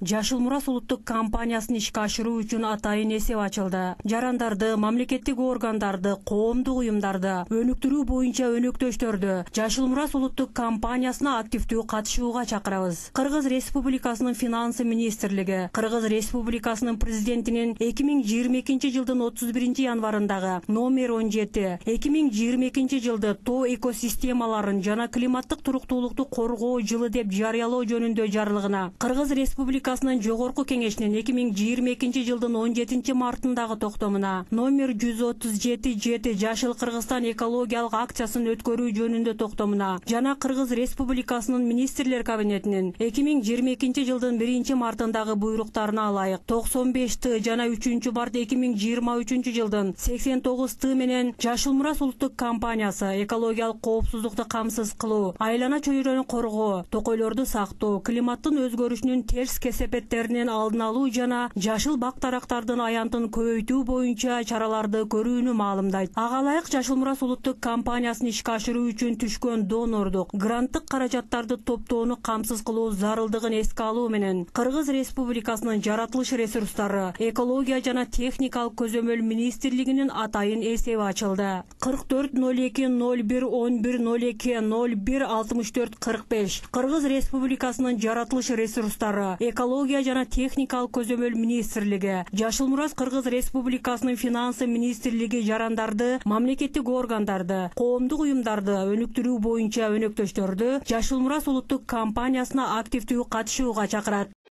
Жашыл Мурас улуттук компаниясын ишке ашыруу үчүн атайын эсеп ачылды. Жарандарды, мамлекеттик органдарды, коомдук уюмдарды өнүктүрүү боюнча өнөктөштөрдү Жашыл Мурас улуттук компаниясына активдүү катышууга чакырабыз. Кыргыз Республикасынын финансы министрлиги, Кыргыз Республикасынын президентинин 2022 жылдын 31 январындагы номер 17 2022 жылды тоо экосистемаларын жана климаттык туруктуулукту коргоо жылы деп жарыялоо жөнүндө жарлыгына, Кыргыз Республикасынын жогорку кеңешинин 2022 жылдын 17 мартындагы токтомуна, номер 137-7 Жашыл Кыргызстан экологиялык акциясын өткөрүү жөнүндө токтомуна жана Кыргыз Республикасынын министрлер кабинетинин 2022 жылдын 1 мартындагы буйруктарына ылайык 95Т жана 3-март 2023 жылдын 89Т менен Жашыл Мурас улуттук компаниясы экологиялык коопсуздукту камсыз кылуу, айлана чөйрөнү коргоо, токойлорду сактоо, климаттын өзгөрүшүнүн терс кесепеттеринин алдын алуу жана жашыл бак-дарактардын аянтын көбөйтүү боюнча чараларды көрүүнү маалымдайт. Ага ылайык Жашыл Мурас улуттук компаниясын ишке ашыруу үчүн түшкөн донордук, гранттык каражаттарды топтоону камсыз кылуу зарылдыгын эске алуу менен Кыргыз Республикасынын жаратылыш ресурстары, экология жана техникалык көзөмөл министрлигинин атайын эсеби ачылды. 44-01-11-02-01-64-45 Кыргыз Республикасынын жаратылыш ресурстары, экология жана техникалык көзөмөл министрлиги, Жашыл Мурас Кыргыз Республикасынын финансы министрлиги жарандарды, мамлекеттик органдарды, коомдук уюмдарды өнүктүрүү боюнча өнөктөштөрдү Жашыл Мурас улуттук компаниясына активдүү катышууга чакырат.